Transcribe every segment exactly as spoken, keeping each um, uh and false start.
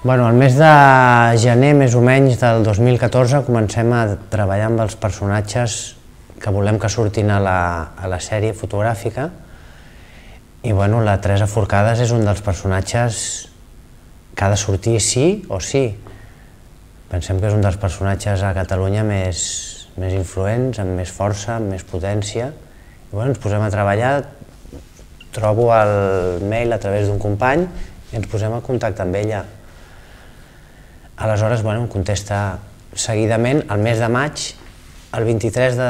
Bueno, el mes de gener, més o menys, del dos mil catorze, comencem a treballar amb els personatges que volem que surtin a la, a la sèrie fotogràfica. I bueno, la Teresa Forcades és un dels personatges que ha de sortir sí o sí. Pensem que és un dels personatges a Catalunya més, més influents, amb més força, amb més potència. I bueno, ens posem a treballar, trobo el mail a través d'un company i ens posem a contacte amb ella. Aleshores, bueno, em contesta seguidament, el mes de maig, el vint-i-tres de,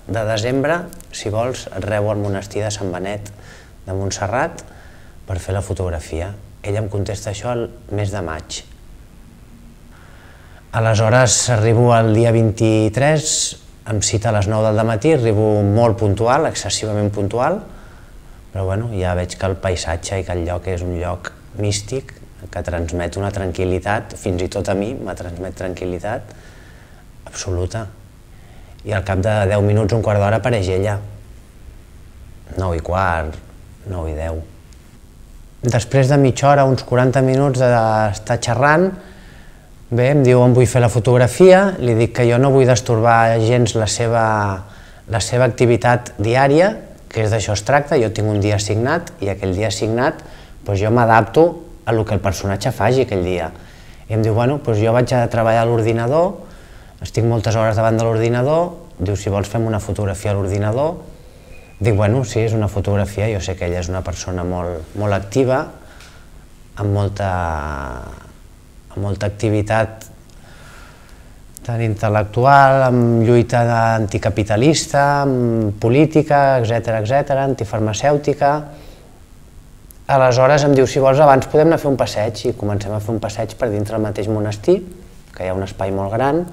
de desembre, si vols, et rebo al monestir de Sant Benet de Montserrat per fer la fotografia. Ella em contesta això el mes de maig. Aleshores, arribo el dia vint-i-tres, em cita a les nou del matí, arribo molt puntual, excessivament puntual, però bueno, ja veig que el paisatge i que el lloc és un lloc místic, que transmet una tranquil·litat, fins i tot a mi m'ha transmet tranquil·litat absoluta. I al cap de deu minuts, un quart d'hora, apareix ella. nou i quart, nou i deu. Després de mitja hora, uns quaranta minuts d'estar xerrant, bé, em diu on vull fer la fotografia, li dic que jo no vull destorbar gens la seva, la seva activitat diària, que és d'això es tracta, jo tinc un dia assignat i aquell dia assignat doncs jo m'adapto a el que el personatge faci aquell dia. I em diu, bueno, doncs jo vaig a treballar a l'ordinador, estic moltes hores davant de l'ordinador, diu, si vols fem una fotografia a l'ordinador. Dic, bueno, sí, és una fotografia, jo sé que ella és una persona molt, molt activa, amb molta, amb molta activitat tant intel·lectual, amb lluita anticapitalista, amb política, etcètera, etcètera, antifarmacèutica. Aleshores em diu, si vols abans podem anar a fer un passeig, i comencem a fer un passeig per dintre del mateix monestir, que hi ha un espai molt gran,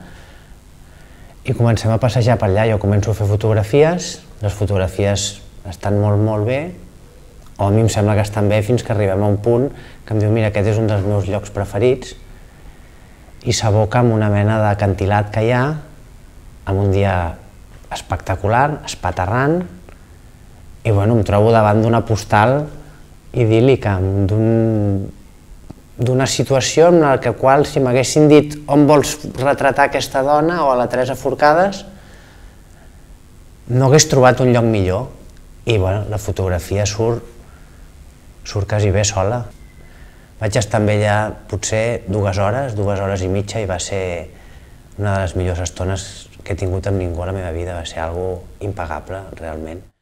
i comencem a passejar per allà. Jo començo a fer fotografies, les fotografies estan molt, molt bé, o a mi em sembla que estan bé fins que arribem a un punt que em diu, mira, aquest és un dels meus llocs preferits, i s'aboca amb una mena d'acantilat que hi ha, amb un dia espectacular, espaterrant, i bueno, em trobo davant d'una postal idíl·lica, d'una situació en la qual si m'haguessin dit on vols retratar aquesta dona o a la Teresa Forcades, no hagués trobat un lloc millor. I bueno, la fotografia surt, surt quasi bé sola. Vaig estar amb ella potser dues hores, dues hores i mitja, i va ser una de les millors estones que he tingut amb ningú a la meva vida, va ser algo impagable, realment.